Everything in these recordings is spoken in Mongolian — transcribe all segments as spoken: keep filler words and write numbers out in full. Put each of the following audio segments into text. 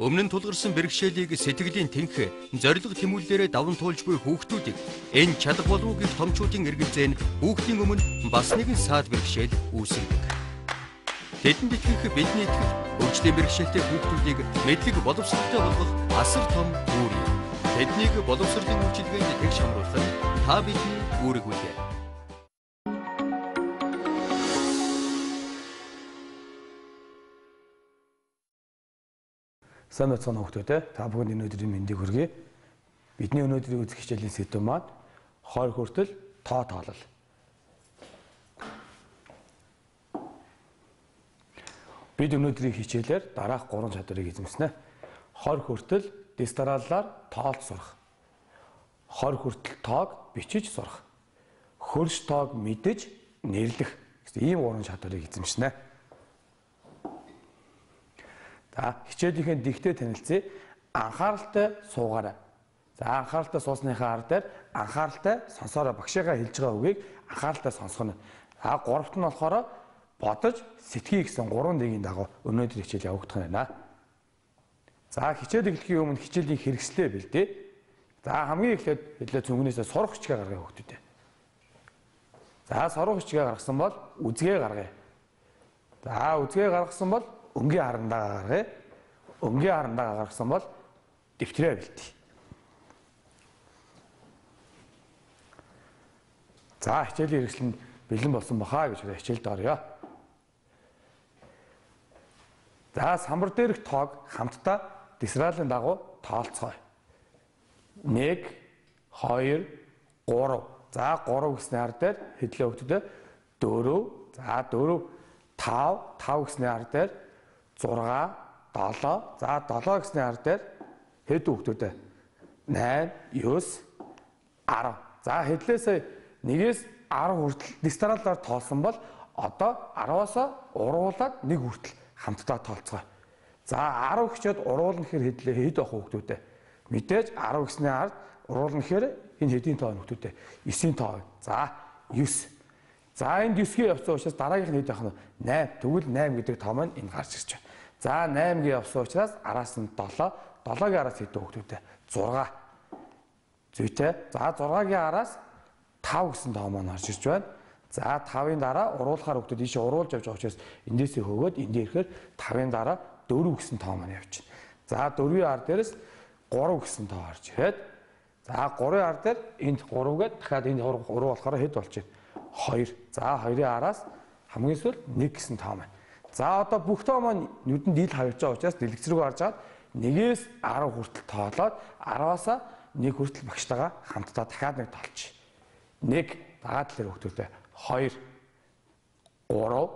Өмнө нь тулгарсан бэрхшээлийг сэтгэлийн тэнх зориг тэмүүллээрээ даван туулж буй хүүхдүүдийг энэ чадах болов уу гэх томчуудын эргэлзээ нь хүүхдийн өмнө бас нэгэн саад бэрхшээл үүсгэдэг. Тэдэнд итгэх бидний итгэх өвчтөе бэрхшээлтэй хүүхдүүдийг мэдлэг боловсролтой болгох асар том үүрэг юм. Тэднийг боловсролын үйлчилгээнд тэгш хамруулах нь та бидний үүрэг үлээ. Сайн мэцэн хүүхдүүд та бүхэнд өнөөдрийн мэндийг хүргэе. Бидний өнөөдрийн үзэх хичээлийн сэдэв маань хойр хүртэл тоо тоолол. Бид өнөөдрийн хичээлээр дараах гурван чадварыг эзэмснэ. Хойр хүртэл дистараллаар тоолж сурах. Хойр хүртэл тоог бичиж сурах. Хөрш тоог мэдэж нэрлэх. Ийм гурван чадварыг эзэмснэ. За хичээлийнхээ дэгтээ танилцъя. Анхааралтай суугаарай. За анхааралтай суусныхаа ар дээр анхааралтай сонсоорой. Багшигаа хэлж байгаа үгийг анхааралтай сонсгоно. За гуравт нь болохоор бодож сэтгэе гэсэн гурван дэгийн дагуу өнөөдөр хичээл явагдах нь байна. За хичээл эхлэхийн өмнө хичээлийн хэрэгслээ бэлдээ. За хамгийн эхлээд хэлээ цүнгнээсээ сурах хичгээ гаргая хүүхдүүдээ. За сурах хичгээ гаргасан бол үзгээ гаргая. За үзгээ гаргасан бол өнгийн харандаа гаргая. Өнгийн харандаа гаргасан бол дэвтрээ бэлтээ. За хичээлийн хэрэгсэл нь бэлэн болсон бахаа гэж хичээлд орё. За самбар дээрх тоог хамтдаа дисралын дагуу тоолцгоё. нэг, хоёр, гурав. За гурав гэсний ар дээр хэдлээ хөвгдөдөө дөрөв. За дөрөв, тав, тав гэсний ар дээр зурга, долоо. За долоо гэсний ар дээр хэд хүүхдүүдээ найм, девь, арав. За хэдлээсээ нэгээс арав хүртэл дистараллаар тоолсон бол одоо араваас уруулаад нэг хүртэл хамтдаа тоолцгоо. За арав гэчээд уруулна гэхээр хэдлээ хэд байх хүүхдүүдээ. Мэдээж арав гэсний ард уруулна гэхээр энэ хэдийн тоо хүүхдүүдээ девийн тоо. За девь. За энд девийн явсан учраас дараагийнх нь хэд байх нь найм. Тэгвэл найм гэдэг тоо маань энэ гарч ирж байна. За наймгийн явсан учраас араас нь долоо. долоогийн араас хэд хүүхдүүдээ зурга. Зүйтэй. За зургагийн араас тав гэсэн тоо маань гарч ирж байна. За тавын дараа уруулахаар хүүхдүүд ийшээ уруулж явж байгаа учраас эндээсээ хөгөөд энд ирэхээр тавын дараа дөрөв гэсэн тоо маань явж байна. За дөрвийн ар дээрээс гурав гэсэн тоо гарч ирээд за гурвын ар дээр энд гурав гээд дахиад энэ гурав болохоор хэд болж байна? хоёр. За хоёрын араас хамгийн сүүл нэг гэсэн тоо маань. За одоо бүх тоо маань нүдэнд ил хавьж байгаа учраас дэлгэц рүү гарч аваад нэгээс арав хүртэл тоолоод араваас нэг хүртэл багштайгаа хамтдаа дахиад нэг тоолчих. нэг дагаад талэр хүүхдүүдээ хоёр, гурав,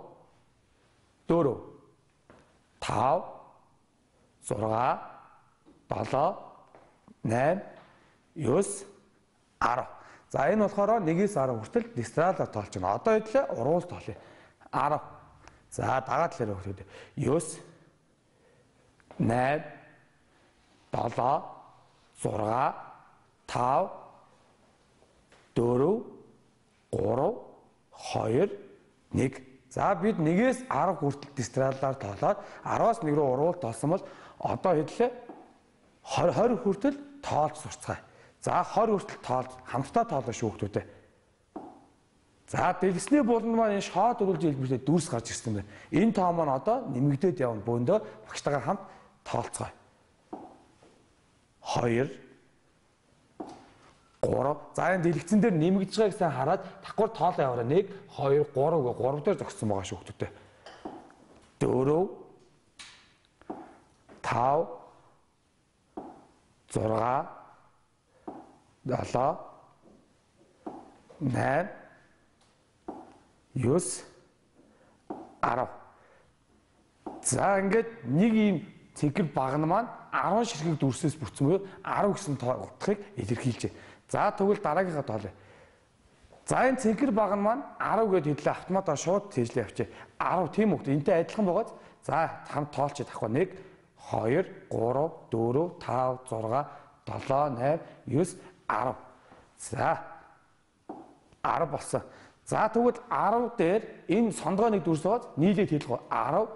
дөрөв, тав, зурга, долоо, найм, девь, арав. За энэ болохоор нэгээс арав хүртэл дистралаар тоолж байна. Одоо хэдлээ уруул тоолъё. арав. За дагаад талэр хүүхдүүдээ девь, найм, долоо, зурга, тав, дөрөв, гурав, хоёр, нэг. За бид нэгээс арав хүртэл дистралаар тоолоод араваас нэг рүү уруул тоолсон бол одоо хэдлээ двадцать хүртэл тоолж сурцгаая. За двадцать хүртэл тоолж хамтдаа тоолно шүү хүүхдүүдээ. За дэлгэсний буланд маань энэ шоод өрүүлж хэлбэртэй дүрс гарч ирсэн байна. Энэ тоо маань одоо нэмэгдээд явна. Бөөндөө багштайгаа хамт тоолцгоё. хоёр, гурав. За энэ дэлгэцэн дээр нэмэгдэж байгааг сайн хараад давхар тоолоо яваарай. нэг, хоёр, гурав гэ гурав дээр зогссон байгаа шүү хүүхдүүдээ. дөрөв, тав, зурга, долоо, найм, девь, арав. За ингээд нэг ийм цэгэр багна маань арав ширхэг дүрсээс бүрдсэн буюу арав гэсэн тоолдохыг илэрхийлж байна. За тэгвэл дараагийнхаа тоолъё. За энэ цэнхэр багна маань арав гэд хэдлээ автоматар шууд цээжлээ явчих. арав тийм үг. Энтэй адилхан байгааз за хамт тоолчих тахгүй. нэг, хоёр, гурав, дөрөв, тав, зурга, долоо, найм, девь, арав. За арав болсон. За тэгвэл арав дээр энэ сондгоо нэг дүрс байгааз нийлээд хэлэх арав,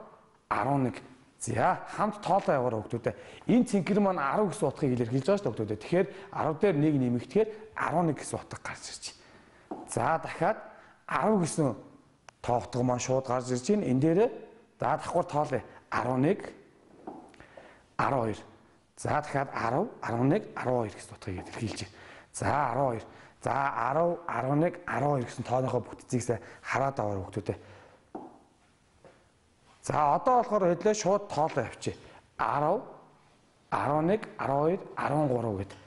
арван нэг. За хамт тоолоо яваараа хүүхдүүдээ. Энэ цэнхэр маань арав гэсэн утгыг илэрхийлж байгаа шүү дээ хүүхдүүдээ. Тэгэхээр арав дээр нэг нэмэгдэхээр арван нэг гэсэн утга гарч ирж байна. За дахиад арав гэсэн тоогдго маань шууд гарч ирж байна. Энэ дээрээ за давхар тоолъё. арван нэг арван хоёр. За дахиад арав, арван нэг, арван хоёр гэсэн утгыг илэрхийлж байна. За арван хоёр. За арав, арван нэг, арван хоёр гэсэн тооныхоо бүтцийг хараад аваа хүүхдүүдээ. За одоо болохоор хэдлээ шууд тоолоо явчих. арав, арван нэг, арван хоёр, арван гурав гэдэг.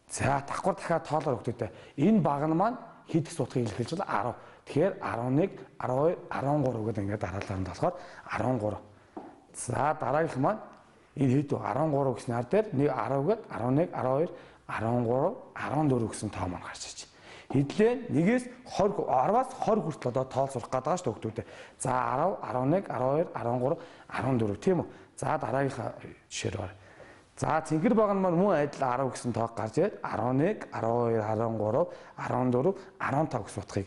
За давхар дахиад тоолоо хүүхдүүдээ. Энэ баг нь маань хэд гэсэн утгыг илэрхийлж байна? арав. Тэгэхээр арван нэг, арван хоёр, арван гурав гэдэг ингээд дараалал нь болохоор арван гурав. За дараагийнх маань энэ хэд вэ? арван гурав гэсэн хар дээр нэг арав гээд арван нэг, арван хоёр, арван гурав, арван дөрөв гэсэн тоо маань гарч ирж байна. Хэдлээ нэгээс двадцать, арваас двадцать хүртэл одоо тоол сурах гэдэг байгаа шүү дээ хүүхдүүдээ. За арав, арван нэг, арван хоёр, арван гурав, арван дөрөв тийм үү? За дараагийнхаа жишээр байна. За цэнхэр баг нь маань мөн адил арав гэсэн тоог гарч ирээд арван нэг, арван хоёр, арван гурав, арван дөрөв, арван тав гэсэн утгыг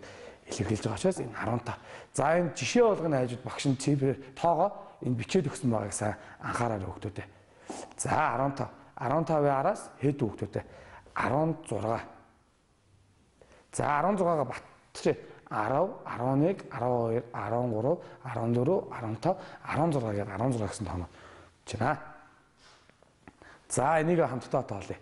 илэрхийлж байгаа учраас энэ арван тав. За энэ жишээ болгоны хажууд багш нь цифр тоогоо энэ бичээд өгсөн байгааг сайн анхаараарай хүүхдүүдээ. За арван тав. арван тавын араас хэд хүүхдүүдээ? арван зураг. За арван зургаага батчих. арав, арван нэг, арван хоёр, арван гурав, арван дөрөв, арван тав, арван зураг гэдэг арван зураг гэсэн тооноо байна. За энийг хамтдаа тоолъё.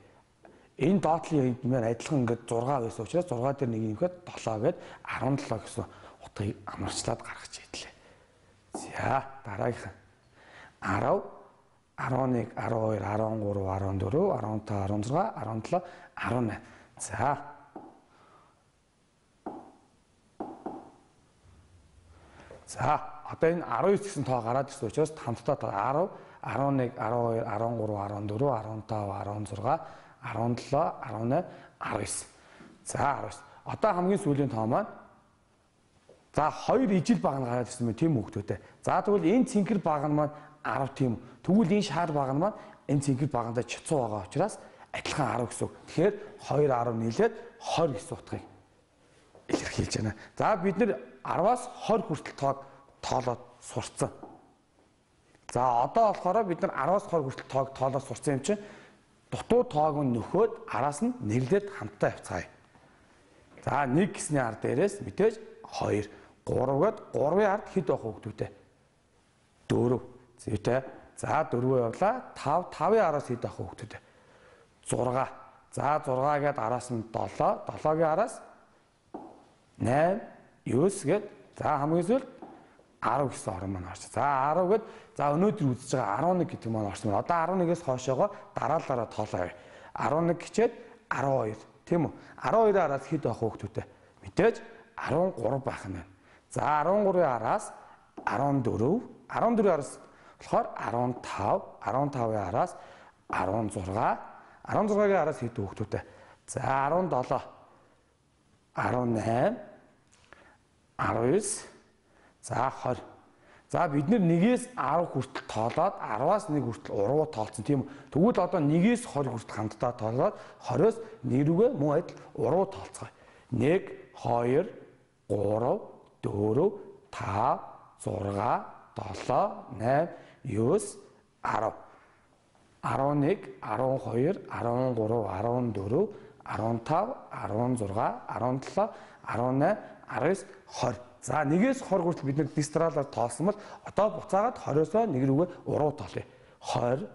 Энэ доотлын хэнд маань адилхан ингээд зураг байсан учраас зураг дээр нэг нэмэхэд долоо гээд арван долоо гэсэн утгыг амарчлаад гаргаж ийлээ. За дараагийнх арав, арван нэг, арван хоёр, арван гурав, арван дөрөв, арван тав, арван зураг, арван долоо, арван найман. За За одоо энэ арван девять гэсэн тоо гараад ирсэн учраас хамтдаа арав, арван нэг, арван хоёр, арван гурав, арван дөрөв, арван тав, арван зураг, арван долоо, арван найман, арван девять. За арван девять. Одоо хамгийн сүүлийн тоо маань за хоёр ижил баг нь гараад ирсэн мэн тийм хүүхдүүдээ. За тэгвэл энэ цэнхэр баг нь маань арав тийм. Тэгвэл энэ шаар баг нь маань энэ цэнхэр багандаа чицүү байгаа учраас адилхан арав гэсэн үг. Тэгэхээр хоёр арав нийлээд двадцать гэсэн утгыг илэрхийлж байна. За бид нэр арваас двадцать хүртэл тоог тоолоод сурцсан. За одоо болохоор бид нар арваас двадцать хүртэл тоог тоолоод сурцсан юм чинь дутуу тоог нь нөхөөд араас нь нэрлээд хамтдаа явцгаая. За нэг гэсний ард дээрээс мэдээж хоёр, гурав гээд гурвын ард хэд байх вэ хүүхдүүдээ? дөрөв. Зүйтэй. За дөрвөө явлаа. тав, тавын араас хэд байх вэ хүүхдүүдээ? зураг. За зураг гээд араас нь долоо, долоогийн араас найман, девять гээд за хамгийн сүүлд арав гэсэн орон маань орчих. За арав гээд за өнөөдөр үзэж байгаа арван нэг гэдэг маань орсон байна. Одоо арван нэгээс хойшоогоо дараалалаараа тоолоо явъя. арван нэг гэчээд арван хоёр тийм үү? арван хоёрын араас хэд байх вэ хүүхдүүдээ? Мэдээж арван гурав байх нь байна. За арван гурвын араас арван дөрөв, арван дөрвийн араас болохоор арван тав, арван тавын араас арван зураг, арван зургагийн араас хэд хүүхдүүдээ? За арван долоо, арван найман, арван девять, за двадцать. За бид нэгээс арав хүртэл тоолоод арваас нэг хүртэл уруу тоолцсон тийм үү. Тэгвэл одоо нэгээс двадцать хүртэл хамтдаа тоолоод двадцать-оос нэг рүүгээ мөн адил уруу тоолцгоё. нэг, хоёр, гурав, дөрөв, тав, зураг, долоо, найман, девять, арав. арван нэг, арван хоёр, арван гурав, арван дөрөв, арван тав, арван зураг, арван долоо, арван найман, арван девять, двадцать. За нэгээс двадцать хүртэл бид нэг дистралаар тоолсон бол одоо буцаагаад двадцать-оосоо нэг рүүгээ уруу тоолъё. двадцать,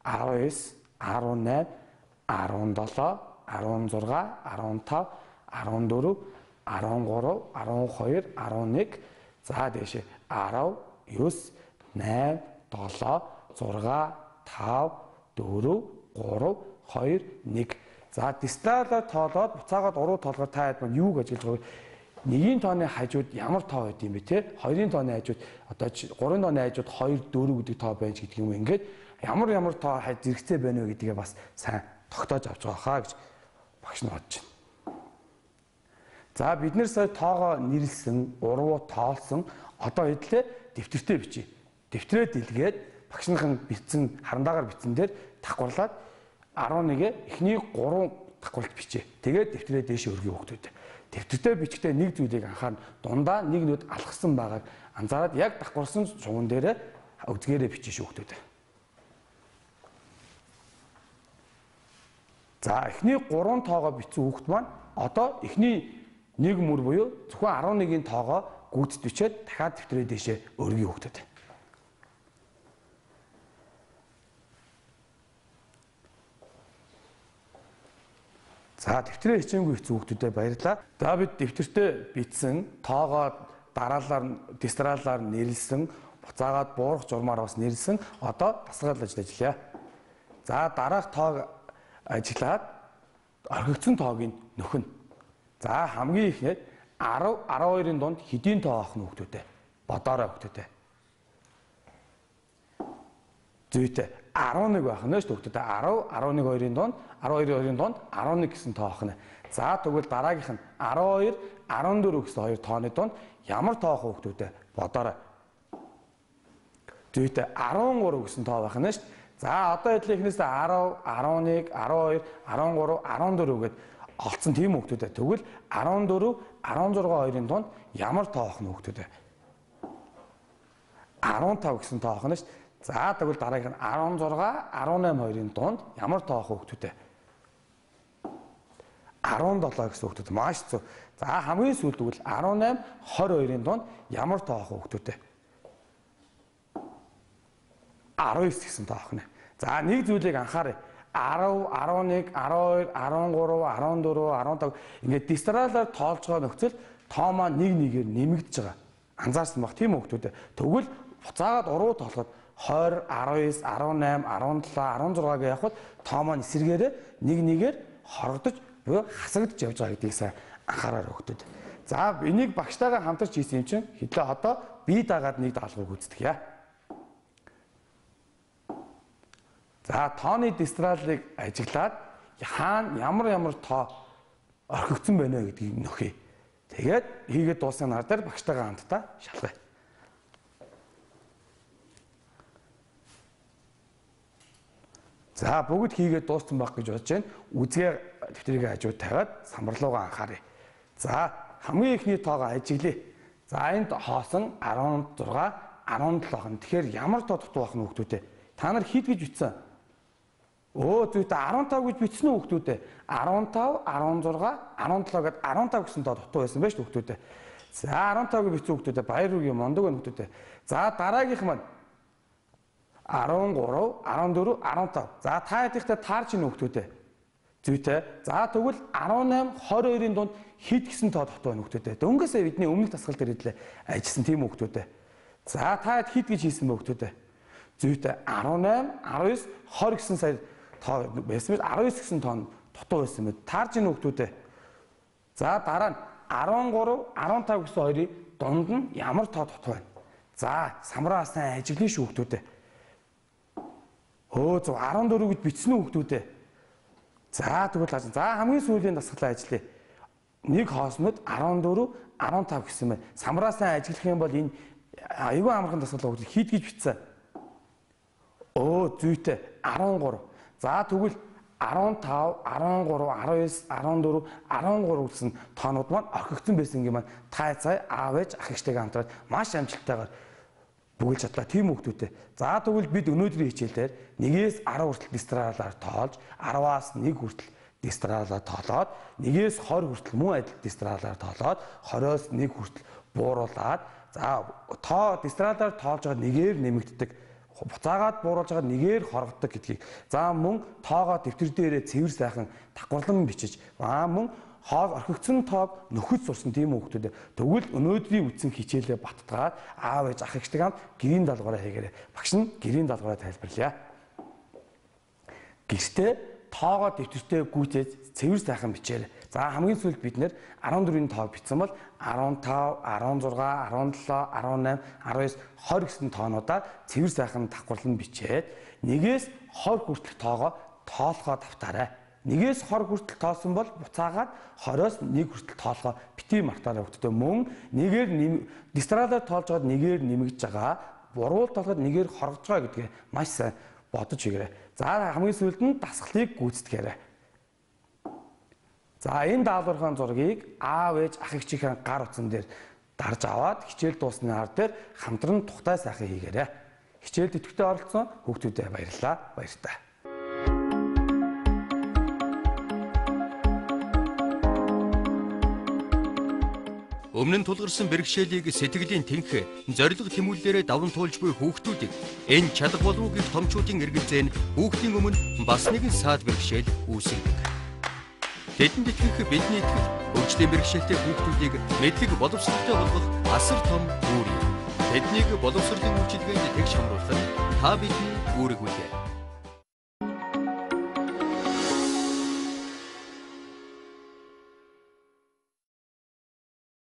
арван девять, арван найман, арван долоо, арван зураг, арван тав, арван дөрөв, арван гурав, арван хоёр, арван нэг, за дээшээ арав, девять, найман, долоо, зураг, тав, дөрөв, гурав, хоёр, нэг. За дистралаар тоолоод буцаагаад уруу тоолохоор та хэд маань юуг ажиллаж байгааг нэгin тооны хажууд ямар тоо байд юм бэ те? хоёрын тооны хажууд одоо гурван тооны хажууд хоёр, дөрөв гэдэг тоо байж гэдэг юм. Ингээд ямар ямар тоо зэрэгцээ байна вэ гэдгээ бас сайн тогтоож авч байгаа хаа гэж багш нар бодож байна. За бид нэр сая тоогоо нэрлсэн, уруу тоолсон. Одоо хэдлээ дэвтэртээ бичиж. Дэвтрээ дэлгээд багшныхын бичсэн харандаагаар бичсэн дээр давхарлаад арван нэгэ эхний гурван давхралт бичээ. Тэгээд дэвтрээ дээшээ өргөе хүүхдүүд. Дэвтэртээ бичгтээ нэг зүйлийг анхаарна. Дундаа нэг нүд алхсан байгааг анзаараад яг давхарсан шуган дээрээ үзгээрээ бичиж хүүхдүүд. За эхний гурван тоогоо бичсэн хүүхд маань одоо эхний нэг мөр буюу зөвхөн арван нэгний тоогоо гүйцэд бичээд дахиад дэвтрээ дэшээ өргөе хүүхдүүд. За дэвтрээ хичээнгүй хэцүү хүүхдүүдэд баярлалаа. За бид дэвтэртээ бичсэн тоогоо дараалал дистралаар нэрлсэн, буцаагаад буурах журмаар бас нэрлсэн. Одоо дасгал ажил ажиллая. За дараах тоог ажиглаад орхигдсон тоогийн нөхөн. За хамгийн ихнээд десять, десять-ийн донд хэдийн тоо авах нь хүүхдүүдэд бодоорой хүүхдүүдэд. Зүйтэй десять нэг байх нь шүү хүүхдүүдэд десять, десять нэг хоёрын донд десять хоёр-ийн донд десять нэг гэсэн тоо авах нь. За тэгвэл дараагийнх нь десять хоёр, десять четыре гэсэн хоёр тооны донд ямар тоо авах хүүхдүүдэд бодоорой. Зүйтэй десять три гэсэн тоо байх нь шүү. За одоо эдлийнхнээс десять, десять нэг, десять хоёр, десять три, десять четыре гэд олцсон тийм хүүхдүүдэд. Тэгвэл десять четыре, десять шесть хоёрын донд ямар тоо авах нь хүүхдүүдэд? десять пять гэсэн тоо авах нь шүү. За тэгвэл дараагийнх нь десять шесть, десять восемь хоёрын донд ямар тоо авах хүүхдүүдэд? десять семь гэсэн хүүхдүүд маш зөв. За хамгийн сүүлд тэгвэл десять восемь, двадцать хоёрын донд ямар тоо авах хүүхдүүдэд? десять девять гэсэн тоо авах нь. За нэг зүйлийг анхаарай. десять, десять нэг, десять хоёр, десять три, десять четыре, десять пять ингээд дистралаар тоолж байгаа нөхцөл тоо маань нэг нэгээр нэмэгдэж байгаа. Анзаарсан баг тийм хүүхдүүд. Тэгвэл буцаагаад уруу тоолоход двадцать, десять девять, десять семь, десять шесть гэж явахад тоо маань эсэргээрээ нэг нэгээр хорогдож буюу хасагдж явж байгаа гэдгийг сайн анхаараар хүүхдүүд. За энийг багштайгаа хамтарч хийсэн юм чинь хэдээ одоо бие дагаад нэг даалгавар гүйцэтгэх яа. За тооны дистралыг ажиглаад хаана ямар ямар тоо орхигдсон байна вэ гэдгийг нөхье. Тэгээд хийгээд дууссан нар дээр багштайгаа хамтдаа шалгая. За бүгд хийгээд дууссан байх гэж бодож байна. Үзгээ дэвтрийг хажууд тавиад самбарлуугаа анхаарай. За хамгийн ихний тоогоо ажиглая. За энд хоосон десять шесть, десять семь. Тэгэхээр ямар тоо дутуу байх нь хүүхдүүдээ? Та нар хэд гэж бичсэн? Өө зүйтэй десять пять гэж бичсэн үү хүүхдүүдээ? десять пять, десять шесть, десять семь гэд десять пять гэсэн тоо дутуу байсан байж хүүхдүүдээ. За десять пять гэж бичсэн хүүхдүүдээ баяр үргээ мондог байна хүүхдүүдээ. За дараагийнх маань десять три, десять четыре, десять пять. За та хэд ихтэй таарч ийн хүүхдүүдээ? Зүйтэй. За тэгвэл десять восемь, двадцать хоёрын донд хэд гэсэн тоо дутуу байна хүүхдүүдээ? Дөнгөсөө бидний өмнөх дасгал дээр хэлээ ажилласан тийм хүүхдүүдээ. За та хэд гэж хийсэн бэ хүүхдүүдээ? Зүйтэй десять восемь, десять девять, двадцать гэсэн сая тоо байсан мэт десять девять гэсэн тоо дутуу байсан мэт таарж ийн хүүхдүүдээ. За дараа нь десять три, десять пять гэсэн хоёрын дунд нь ямар тоо дутуу байна? За самраа сайн ажиглая шүү хүүхдүүдээ. Өө зөв десять четыре гэж бичсэн үү хүүхдүүдээ? За тэгвэл хааж. За хамгийн сүүлийн дасгалаа ажиллая. Нэг хоосмод десять четыре, десять пять гэсэн байна. Самраа сайн ажиглах юм бол энэ айгүй амархан дасгал хүүхдүүд хийд гэж бичсэн. Өө зүйтэй десять три. За тэгвэл десять пять, десять три, десять девять, десять четыре, десять три гэсэн тоонууд маань орхигдсон байсан юм маань та цай аав ээж ах эгчтэйгээ хамтраад маш амжилттайгаар бүгэлж чадлаа тийм хүүхдүүтэй. За тэгвэл бид өнөөдрийн хичээлээр нэгээс десять хүртэл дистралаар тоолж, десятаас нэг хүртэл дистралаар тоолоод, нэгээс двадцать хүртэл мөн адил дистралаар тоолоод, двадцоос нэг хүртэл бууруулад, за тоо дистралаар тоолж байгаа нэгээр нэмэгддэг, буцаагаад бууруулж байгаа нэгээр хоргоддог гэдгийг. За мөн тоогоо дэвтэр дээрээ цэвэр сайхан давхарлан бичиж, аа мөн хоол орхигдсон тоог нөхөж сурсан тийм хүүхдүүд. Тэгвэл өнөөдрийн үтсэн хичээлээ баттгаад аав ээж ах эгчтэй хамт гэрийн даалгавраа хийгээрэй. Багш нь гэрийн даалгавраа тайлбарлая. Гэхдээ тоогоо дэвтэртээ гүйцээж цэвэр сайхан бичээрэй. За хамгийн сүүлд бид нэр десять четыре-ийн тоог бичсэн бол десять пять, десять шесть, десять семь, десять девять, двадцать гэсэн тоонуудаар цэвэр сайхан давхарлан бичээд нэгээс двадцать хүртэлх тоогоо тоолохоо давтаарай. Нэгээс двадцать хүртэл тоосон бол буцаагаад двадцоос нэг хүртэл тоолохоо бити мартаарай хүүхдтэй. Мөн нэгээр дистралаар тоолж байгаад нэгээр нэмэгдэж байгаа, буруу тоолоход нэгээр хоргож байгаа гэдгээ маш сайн бодож игээрэй. За хамгийн сүүлд нь дасгалыг гүйцэтгээрэй. За энэ даалгаврын зургийг аав ээж ах эгчийн гар утсан дээр дарж аваад хичээл дуусны хар дээр хамтран тухтай сайхан хийгээрэй. хичээлд идэвхтэй оролцсон хүүхдүүдэд баярлалаа. Баяртай. Өмнө нь тулгарсан бэрхшээлийг сэтгэлийн тэнх зориг тэмүүллээрээ даван туулж буй хүүхдүүдийг энэ чадах болов уу гэх томчуудын эргэлзээ нь хүүхдийн өмнө бас нэгэн саад бэрхшээл үүсгэдэг. Тэдэнд итгэх бидний итгэл хөгжлийн бэрхшээлтэй хүүхдүүдийг мэдлэг боловсролтой болгох асар том үүрэг. Тэднийг боловсролын үйлчилгээнд тэгш хамруулах нь та бидний үүрэг үлээ.